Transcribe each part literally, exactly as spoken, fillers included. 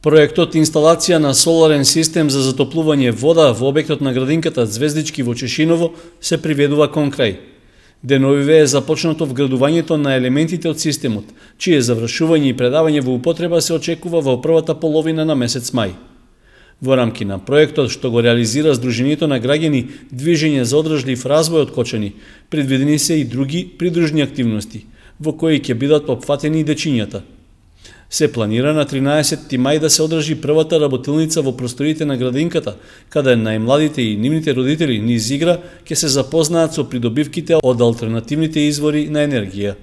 Проектот инсталација на соларен систем за затоплување вода во објектот на градинката Звездички во Чешиново се приведува кон крај. Деновиве е започнато вградувањето на елементите од системот, чие завршување и предавање во употреба се очекува во првата половина на месец мај. Во рамки на проектот, што го реализира Сдруженијето на граѓани Движење за одржлив развој од Кочани, предвидени се и други придружни активности, во кои ќе бидат опфатени и дечињата. Се планира на тринаесетти мај да се одржи првата работилница во просторите на градинката, каде најмладите и нивните родители низ игра ќе се запознаат со придобивките од алтернативните извори на енергија.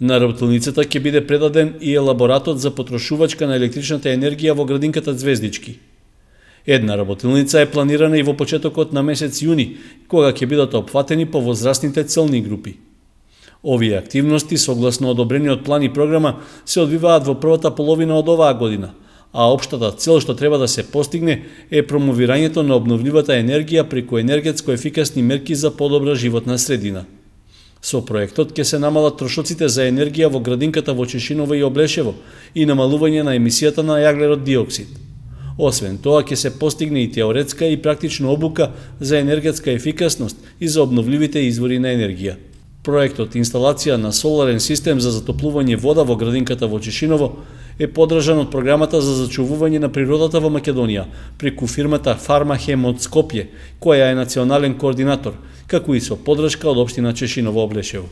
На работилницата ќе биде предаден и елаборатот за потрошувачка на електричната енергија во градинката Звездички. Една работилница е планирана и во почетокот на месец јуни, кога ќе бидат опфатени повозрастните целни групи. Овие активности, согласно одобрениот план и програма, се одвиваат во првата половина од оваа година, а општата цел што треба да се постигне е промовирањето на обновливата енергија преку енергетско ефикасни мерки за подобра животна средина. Со проектот ќе се намалат трошоците за енергија во градинката во Чешиново и Облешево и намалување на емисијата на јаглерод диоксид. Освен тоа, ќе се постигне и теоретска и практична обука за енергетска ефикасност и за обновливите извори на енергија. Проектот инсталација на соларен систем за затоплување вода во градинката во Чешиново е подржан од програмата за зачувување на природата во Македонија преку фирмата Фармахем од Скопје, која е национален координатор, како и со поддршка од општина Чешиново Облешево.